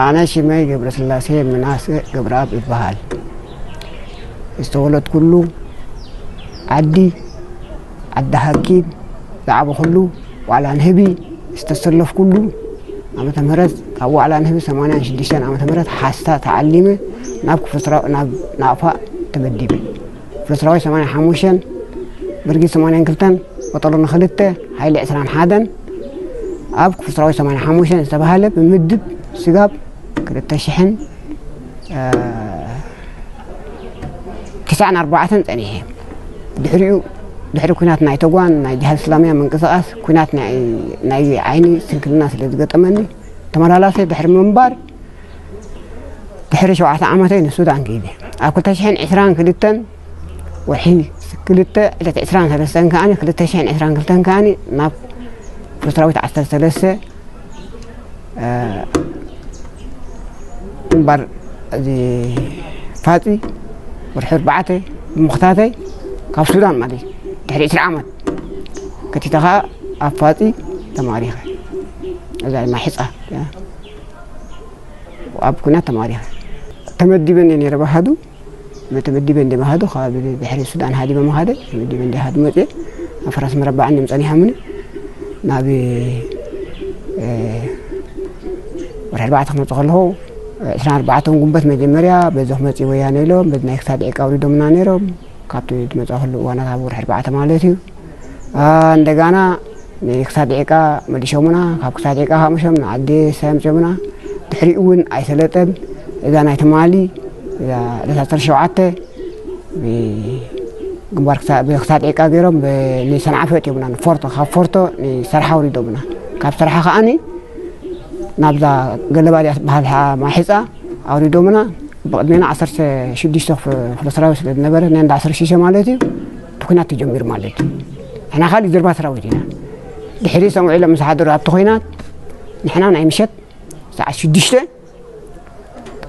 ኣነ ሽመይ ገብረስላሴ ምናሴ ገብረኣብ እበሃል። ዝተወለድኩሉ ዓዲ፣ ዓዲ ሃኪን፣ ዝዓበኹሉ ዋዕላ ንህቢ ዝተሰለፍኩሉ ዓመተ ምህረት፣ ካብ ዋዕላ ንህቢ ሰማንያን ሽዱሽተን ዓመተ ምህረት ሓስታ ተዓሊመ ናብ ክፍለ ሰራዊት፣ ናብ ናቕፋ ተመዲበ። ክፍለ ሰራዊት ሰማንያን ሓሙሽተን፣ ብርጌድ ሰማንያን ክልተን፣ ቀጠሎ ንክልተ፣ ሓይሊ ዕስራን ሓደን ኣብ ክፍለ ሰራዊት ሰማንያን ሓሙሽተን ዝተባህለ ብምድብ ስጋብ ክልተ ሽሕን፣ እ፣ ትስዓን ኣርባዕተን ጸኒሐ። ድሕሪኡ፣ ድሕሪ ኲናት ናይ ተጓን ናይ ጅሃድ እስላምያ ምንቅስቓስ፣ ኲናት ናይ፣ ናይ ዓይኒ ስንክልና ስለ ዝገጠመኒ፣ ተመላላሰ ድሕሪ ምንባር፣ ድሕሪ ሸውዓተ ዓመተይ ንሱዳን ከይደ። ኣብ ክልተ ሽሕን ዕስራን ክልተን ወርሒ ክልተ ዕለት ዕስራን ሰለስተን ከኣኒ፣ ክልተ ሽሕን ዕስራን ክልተን ከኣኒ ናብ ክፍለ ሰራዊት ዓሰርተ ሰለስተ፣ እ፣ ግንባር እዚ ፋጺ ወርሒ ኣርባዕተ ብምኽታተይ ካብ ሱዳን ማለት እዩ። ድሕሪ ዕስራ ዓመት ከቲተ ኸኣ ኣብ ፋጺ ተማሪኸ። እዛ ማሒጻ ኣብ ኩናት ተማሪኸ። ተመዲበ እንደ ነይረ ባህዱ፣ ተመዲበ እንደ ባህዱ፣ ካብ ድሕሪ ሱዳን ሃዲመ መኻደ፣ ተመዲበ እንደ ሃዱ መጽየ፣ ኣብ ፈረስ መረባዕ እንደ ምጸኒሖምኒ፣ ናብ፣ እ፣ ወርሒ ኣርባዕተ ክመጽእ ከለኹ፣ ዕስራን ኣርባዕተን ጉንበት መጀመርያ፣ በዚ ክመጽእ ወያነ ኢሎም፣ በዚ ናይ ክሳድ ዒቃ ኣውሪዶምና ነይሮም፣ ካብቲ ዝመጻእኩሉ እዋናት ኣብ ወርሒ ኣርባዕተ ማለት እዩ። አ፣ እንደጋና ንክሳድ ዒቃ መሊሾምና፣ ካብ ክሳድ ዒቃ ካብ መሾም ንዓዲ ሳይ ኣምጺኦምና። ድሕሪኡ እውን ኣይሰለጠን። እዛ ናይ ትማሊ፣ እዛ ዕለት ዓሰርተ ሸውዓተ ብግንባር ክሳ-፣ ብክሳድ ዒቃ ገይሮም ብ-፣ ንሰንዓፈ እትዮምና፣ ንፎርቶ፣ ካብ ፎርቶ ንሰርሓ ኣውሪዶምና። ካብ ሰርሓ ከኣኒ ናብዛ ገለባ ድያ ትበሃል ማሒፃ ኣውሪዶምና። ብቕድሜና ዓሰርተ ሽዱሽተ ክፍ-፣ ክፍለ ሰራዊት ስለ ዝነበረ፣ ናይ እንዳ ዓሰርተ ሽዱሽተ ማለት እዩ፣ እቲ ኲናት ተጀሚሩ ማለት እዩ። ንሕና ካልእ ጀርባ ሰራዊት ኢና። ድሕሪ ሰምዑ ኢሎም ምስ ሓደሩ ኣብቲ ኲናት፣ ንሕና ናይ ምሸት ሰዓት ሽዱሽተ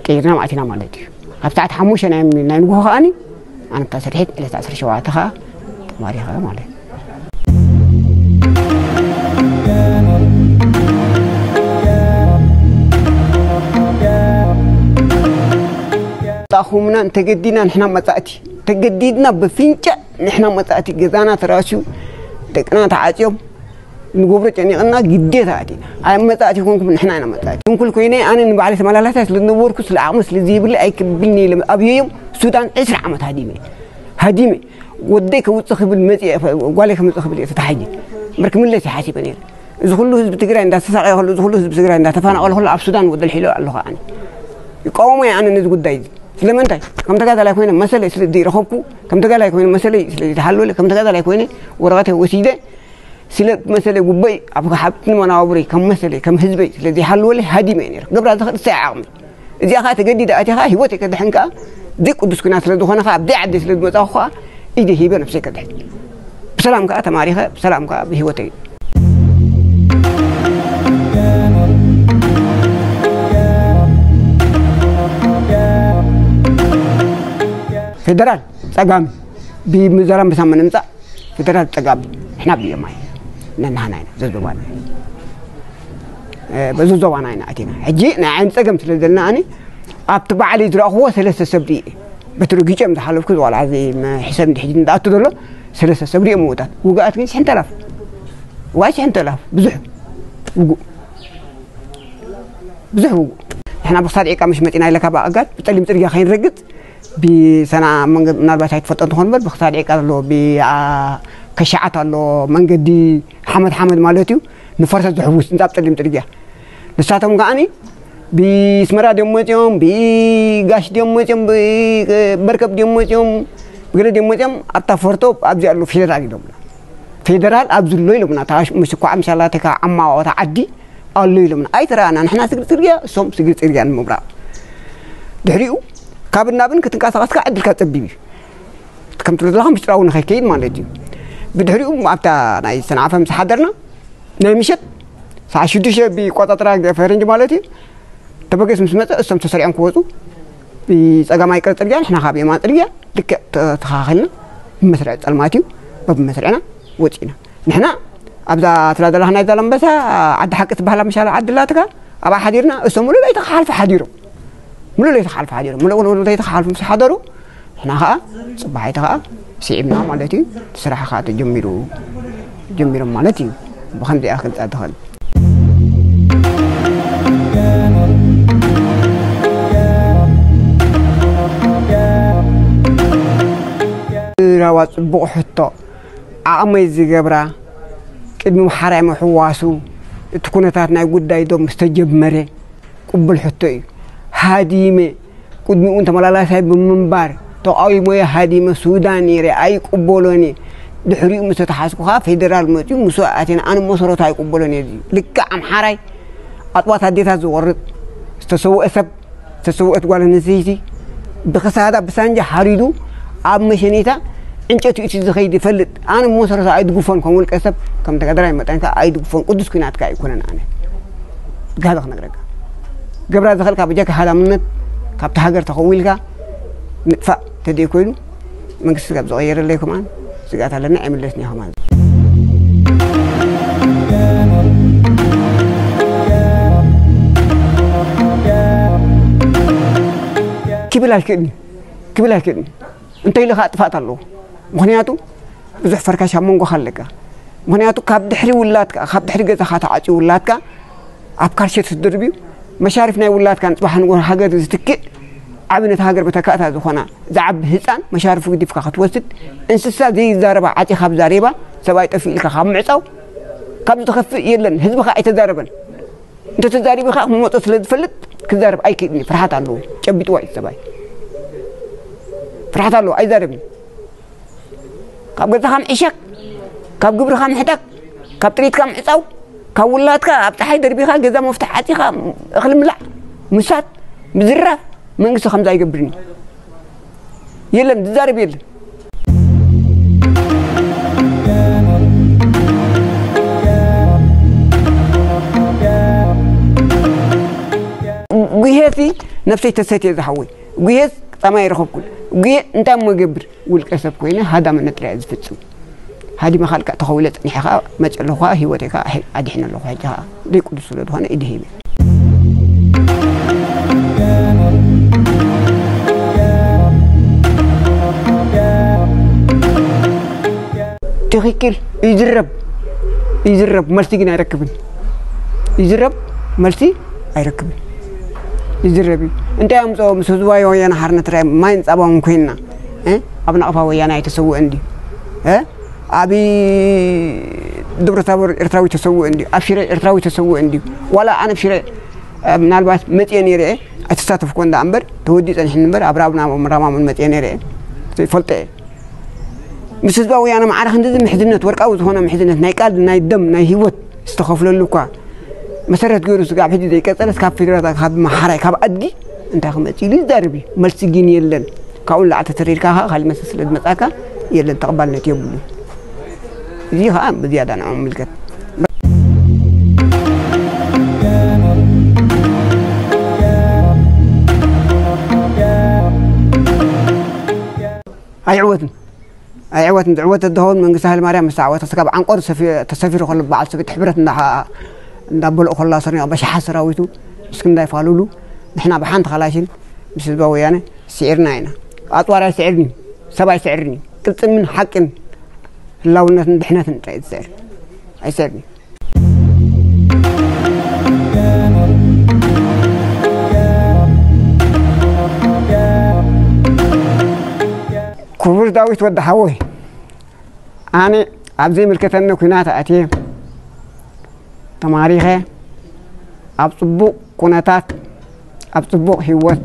ቀይርና ኣቲና ማለት እዩ። ካብ ሰዓት ሓሙሽተ ናይ፣ ናይ ንግሆ ከኣኒ፣ ኣነ ኣብታ ስርሒት ዕለት ዓሰርተ ሸውዓተ ከኣ ተማሪኸ ማለት እዩ። ተኣኹምና እንተገዲድና ንሕና መጻእቲ፣ ተገዲድና ብፍንጫ ንሕና መጻእቲ፣ ገዛና ተራስዩ፣ ደቅና ተዓጽዮም፣ ንገብሮ ጨኒቕና ግዴታ ኣቲና። ኣብ መጻእቲ ኮንኩም ንሕና ኢና መጻእቲ። ስንኩል ኮይነ ኣነ ንባዕለይ ተመላላሳይ ስለ ዝነበርኩ ስለ ዓቕሚ ስለ ዘይብለይ ኣይክብልኒ ኢለ ኣብየዮም። ሱዳን ዕስራ ዓመት ሃዲመ። ሃዲመ። ወደይ ከውጽእ ክብል መጽየ፣ ጓለይ ከምጽእ ክብል እየ ተታሒጀ። እምበር ክምለስ እየ ሓሲበ ነይረ። እዚ ኩሉ ህዝቢ ትግራይ እንዳተሳቐየ ከሎ፣ እዚ ኩሉ ህዝቢ ትግራይ እንዳተፈናቐለ ከሎ ኣብ ሱዳን ወደል ሒሎ ኣለኹ ኣነ። ይቃወሞ እየ ኣነ ነዚ ጉዳይ እዚ። ስለምንታይ? ከም ተጋዳላይ ኮይነ መሰለይ ስለ ዘይረኸብኩ፣ ከም ተጋዳላይ ኮይነ መሰለይ ስለ ዘይተሃለወለ፣ ከም ተጋዳላይ ኮይነ ወረቐተይ ወሲደ፣ ስለ መሰለይ ጉበይ ኣብ ሃብትን መናባብሮይ ከም መሰለይ ከም ህዝበይ ስለ ዘይሃለወለይ ሃዲመ እየ ነይረ። ክገብራ ዝኽእል እሰይ ዓቕሚ። እዚኣ ኸዓ ተገዲደ ኣትየ ኸዓ ህይወተይ ከድሕን ከኣ ዘይቅዱስ ኲናት ስለ ዝኾነ ኸዓ ኣብዘይ ዓደይ ስለ ዝመጻኹ ኸዓ ኢደይ ሂበ ነብሰይ ከድሕን። ብሰላም ከኣ ተማሪኸ ብሰላም ከኣ ብህይወተይ ፌደራል ጸጋም ብዘራምበሳ ምምጻእ ፌደራል ጸጋም ንሕና ብየማይ ነናህና ኢና ዘዞባና። እ፣ በዚ ዞባና ኢና ኣቲና። ሕጂ ናይ ዓይኒ ጸገም ስለ ዘለና ኣነ ኣብቲ ባዕለይ ዝረእኽዎ ሰለስተ ሰብ ርእየ። በቲ ረጊጾም ዝሓለፍኩ ዝዋላ እዚ መ-፣ ሕሰብ እንዲ ሕጂ እንዳኣቱ ዘሎ ሰለስተ ሰብ ርእየ ምውታት። ውግኣት ግን ሽሕን ተላፍ። ውግኣት ሽሕን ተላፍ። ብዙሕ ውጉእ። ብዙሕ ውጉእ። ንሕና ብክሳድ ዒቃ ምሽ መጺና ኢለ ካብ ኣእጋድ ብጸሊም ጽርግያ ከይንረግጽ ብሰና መንገድ ምናልባት ኣይትፈልጦ እንትኾን እምበር ብክሳድ ዒቃ ኣሎ፣ ብ-፣ ኣ-፣ ከሻዓት ኣሎ፣ መንገዲ ሓመድ ሓመድ ማለት እዩ። ንፈረሰት ዝሕውስ እንጻብ ጸሊም ጽርግያ። ንሳቶም ከኣኒ ብስመራ ድዮም መጺኦም፣ ብጋሽ ድዮም መጺኦም፣ ብበርከብ ድዮም መጺኦም፣ ብገለ ድዮም መጺኦም፣ ኣብታ ፎርቶ ኣብዚ ኣሎ ፌደራል ኢሎምና። ፌደራል ኣብዚ ኣሎ ኢሎምና። እታ ምስ እኳ ምሻላ ተካ ዓማዋታ ዓዲ ኣሎ ኢሎምና። ኣይተረኣና። ንሕና ስግር ጽርግያ፣ እሶም ስግር ጽርግያ ንምብራቕ። ድሕሪኡ ካብ ናብን ክትንቀሳቐስካ ዕድልካ ጸቢብ እዩ። ከም ትብሎ ዘለኻ ምስጢራዊ ንኸይከይድ ማለት እዩ። ብድሕሪኡ ኣብታ ናይ ሰንዓፈ ምስ ሓደርና፣ ናይ ምሸት ሰዓት ሽዱሽተ ብቆጻጽራ ፈረንጂ ማለት እዩ። ተበገስ ምስ መጸ፣ እሶም ተሰሪዖም ክወጹ፣ ብጸጋማይ ቀ-፣ ጽርግያ፣ ንሕና ካብ የማን ጽርግያ ልክዕ ተተኻኺልና፣ ብመስርዕ ጸልማት እዩ፣ በብመስርዕና ወጺእና። ንሕና ኣብዛ ትላ ዘለኻ ናይ ዛላምበሳ ዓዲ ሓቂ ትበሃላ ምሻላ ዓዲ ኣላትካ፣ ኣብኣ ሓዲርና፣ እሶም ሙሉእ ለይቲ ክሓልፉ ሓዲሮም። ሙሉእ ለይቲ ክሓልፉ ሓዲሮም። ሙሉእ ለይቲ ክሓልፉ ምስ ሓደሩ፣ ንሕና ኸኣ ጽባሒቲ ኸኣ ስዒብና ማለት እዩ። እቲ ስራሕ ኸኣ ተጀሚሩ፣ ጀሚሮም ማለት እዩ። ብኸምዚኣ ክገልጻ ትኽእል። ራዋ ጽቡቕ ሕቶ። ዓቕመይ ዝገብራ፣ ቅድሚ ምሓራይ ምሕዋሱ፣ እቲ ኩነታት ናይ ጉዳይ ዶብ ምስ ተጀመረ፣ ቅቡል ሕቶ እዩ። ሃዲመ፣ ቅድሚኡ እውን ተመላላሳይ ብምንባር፣ ተቓዊሞየ ሃዲመ ሱዳን ነይረ፣ ኣይቅበሎን እየ። ድሕሪኡ ምስ ተተሓዝኩ ኸዓ ፌደራል መፂኡ፣ ምስኡ ኣቲና፣ ኣነ መሰረቱ ኣይቅበሎን እየ። እዚ ልክዕ ኣምሓራይ፣ ኣጥባት ኣዴታት ዝቖርጥ፣ ዝተሰውአ ሰብ፣ ዝተሰውአት ጓል ኣንስተይቲ፣ ብኽሳዳ ብሳንጃ ሓሪዱ፣ ኣብ መሸኔታ ዕንጨቲ እቲ ዝኸይድ ይፈልጥ። ኣነ ብመሰረቱ ኣይድግፎን፣ ከም ውልቀ ሰብ፣ ከም ተጋደላይ መጠን ከኣ ኣይድግፎን። ቅዱስ ኲናት ከኣ ኣይኮነን ኣነ። ጋዛ ክነግረካ። ገብራ ዝኸልካ ብጀካ ሃዳምነት፣ ካብቲ ሃገር ተኸዊልካ ምጥፋእ ተደይ ኮይኑ፣ መንግስቲ ካብ ዝቐየረለይ ከማን ስግኣት ኣለና፣ ኣይምለስን እየ ከማን። ክብል ኣይክእልን እዩ። ክብል ኣይክእልን እዩ። እንተ ኢሉ ኸዓ ጥፍኣት ኣለዎ። ምኽንያቱ ብዙሕ ፈርካሽ ኣብ መንጎኻ ኣለካ። ምኽንያቱ ካብ ድሕሪ ውላድካ፣ ካብ ድሕሪ ገዛኻ ተዓጽዩ ውላድካ ኣብ ካልሸት ትድርብዩ፣ መሻርፍ ናይ ውላድካ ንጽባሕ ንጎ ሃገር ዝትክእ ዓቢ ነቲ ሃገር መተካእታ ዝኾና ዝዓቢ ህጻን መሻርፉ ግዲፍካ ክትወስድ፣ እንስሳ ዘይዛረባ ዓጺኻ ኣብ ዛሬባ፣ ሰብኣይ ጠፊኡ ኢልካ ካብ ምዕጻው፣ ካብ ዝኸፍእ የለን። ህዝብኻ ኣይተዛረበን። እንተተዛሪቡ ኸዓ ክመጾ ስለ ዝፈልጥ ክዛረብ ኣይክእልን እዩ። ፍርሓት ኣለዎ። ጨቢጥዋ እዩ ሰብኣይ። ፍርሓት ኣለዎ። ኣይዛረብን። ካብ ገዛኻ ምዕሻግ፣ ካብ ግብርኻ ምሕዳግ፣ ካብ ጥሪትካ ምዕጻው፣ ካብ ውላድካ ኣብ ጸሓይ ደርቢኻ ገዛ መፍትሕ ዓጺኻ እኽሊ ምብላዕ፣ ምሳት፣ ምዝራፍ፣ መንግስቲ ከምዚ ኣይገብርን እዩ። የለን፣ ዝዛረብ የለን። ጉሄሲ ነብሰይ ተሰትየ ዝሓወይ። ጉሄስ ጻማ ይረኸብኩን። ጉሄ እንታይ እሞ ገብር? ውልቀ ሰብ ኮይነ ሃዳምነት ጥራይ እየ ዝፍጽም። ሃዲመ ካልካ ተኸዊለ ጸኒሐ ኸኣ መጽእ ኣለኹ ኸኣ ህይወተይ ኸኣ ኣድሕነ ኣለኹ። ሕጂ ኸኣ ደይ ቅዱስ ስለ ዝኾነ ኢድ ሂበ። ትኽክል። ይዝረብ፣ ይዝረብ፣ መልሲ ግን ኣይረክብን። ይዝረብ፣ መልሲ ኣይረክብን። ይዝረብ እዩ። እንታይ ኣምፅኦ ምስ ህዝባዊ ወያነ ሓርነት ትግራይ ማይን ፃባውን ኮይንና፣ እ? ኣብ ናቕፋ ወያነ ኣይተሰውአን ድዩ? እ? ኣብ ደብረታቦር ኤርትራዊ ተሰውአ እንድዩ፣ ኣብ ሽረ ኤርትራዊ ተሰውአ እንድዩ። ዋላ ኣነ ኣብ ሽረ፣ እ፣ ምናልባት መጽየ ነይረ እየ፣ ኣይተሳተፍኩ እንዳ እምበር፣ ተወዲኡ ጸኒሕኒ እምበር፣ ኣብ ራብና ራማሙን መጽየ ነይረ እየ። ይፈልጦ እየ። ምስ ህዝባዊ ወያነ ማዕረ ክንድዚ ምሕዝነት፣ ወርቃዊ ዝኾነ ምሕዝነት፣ ናይ ቃል፣ ናይ ደም፣ ናይ ህይወት ዝተኸፍለሉ እኳ መሰረት ገይሩ ስጋብ ሕጂ ዘይቀጸለስ፣ ካብ ፌደራል፣ ካብ መሓራይ፣ ካብ ኣድጊ እንታይ ክመጽእ ኢሉ ይዛረብ እዩ። መልሲ ግን የለን። ካብኡ ንላዕሊ ተተሪርካ ኸዓ ካልእ መስል ስለ ዝመጻካ የለን፣ ተቐባልነት የብሉን። እዚ ኸዓ ብዝያዳ ንዕኦም ይምልከት። ኣይዕወትን። ኣይዕወትን። ዝዕወት እንተኸውን መንግስቲ ሃይለማርያም ምስ ተዓወተ፣ ስጋብ ዓንቆር ሰፊ-፣ ተሰፊሩ ከሎ በዓል ሰበይቲ ሕብረት እንዳ-፣ እንዳበልዑ ከሎ ኣሰርኒቖ በሽሓት ሰራዊቱ ምስ ክንዳይ ፋሉሉ ንሕና ብሓንቲ ካላሽን ምስ ህዝባዊ ወያነ ስዒርና ኢና። ኣፅዋር ኣይስዕርን እዩ፣ ሰብ ኣይስዕርን እዩ። ቅልፅምን ሓቅን ህላውነትን ድሕነትን ጥራይ እዩ ዝስዕር። ኣይስዕርን እዩ። ክቡር ዳዊት ወዲ ሓወይ፣ ኣነ ኣብ ዘይምልከተኒ ኲናት ኣትየ፣ ተማሪኸ፣ ኣብ ጽቡቕ ኩነታት፣ ኣብ ጽቡቕ ህይወት፣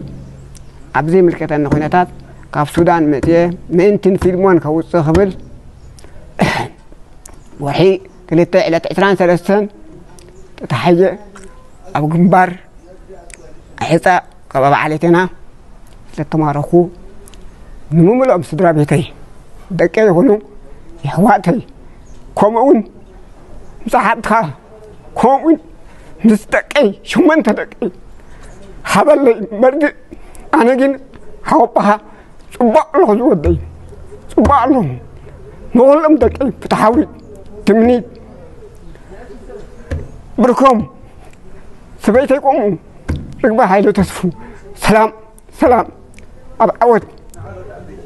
ኣብ ዘይምልከተኒ ኩነታት ካብ ሱዳን መጽየ፣ ምእንትን ፊልሞን ከውጽእ ክብል፣ ወርሒ ክልተ ዕለት ዕስራን ሰለስተን ተታሒዘ ኣብ ግንባር ኣሕጻ ካብ ኣብ ዓሌትና ስለተማረኹ፣ ንምምልኦም ስድራ ቤተይ፣ ደቀይ ይኹኑ የሕዋተይ፣ ከምኡውን ምስ ሓትኻ፣ ከምኡውን ምስ ደቀይ፣ ሸሞንተ ደቀይ ሃበለይ መርድእ። ኣነ ግን ሓወቦኻ ጽቡቕ ኣለኹ ዝወደይ፣ ጽቡቕ ኣለኹ። ንኹሎም ደቀይ ፍትሓዊ ትምኒት ብርኮም ሰበይተይ ከምኡ። ርግበ ሃይለ ተስፉ። ሰላም ሰላም። ኣብ ዓወት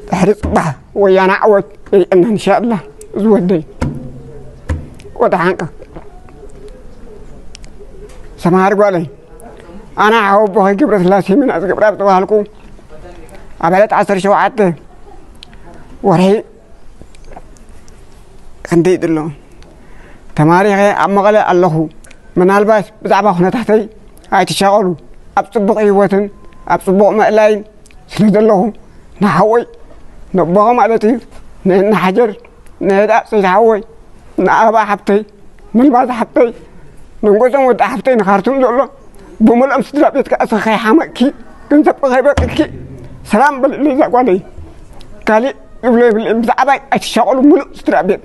ድሕሪ ጽባሕ ወያነ ዓወት የርእየና እንሻኣላ። ዝወደይ ወደ ሓንቀ ሰማሃር ጓለይ ኣነ ሓወቦኸ ገብረስላሴ ምናዝ ገብረኣብ ዝተባሃልኩ ኣብ ዕለት ዓሰርተ ሸውዓተ ወርሒ ክንደይ ድሎ ተማሪኸ ኣብ መቐለ ኣለኹ። ምናልባት ብዛዕባ ኩነታተይ ኣይትሻቐሉ። ኣብ ጽቡቕ ህይወትን ኣብ ጽቡቕ ምእላይን ስለ ዘለኹ ንሓወይ ነቦኸ ማለት እዩ ንእናሓጀር ንህዳእ ሰይድ ሓወይ ንኣባ ሓብተይ ንልማዝ ሓብተይ ንንጎዞም ወዲ ሓብተይ ንኻርቱም ዘሎ ብምልኦም ስድራ ቤትካ እሰ ከይሓመቅኪ ገንዘብ ከይበቅኪ ሰላም በልለይ እዛ ጓለይ። ካሊእ ዝብሎ የብለይ። ብዛዕባይ ኣይትሻቐሉ ምሉእ ስድራ ቤት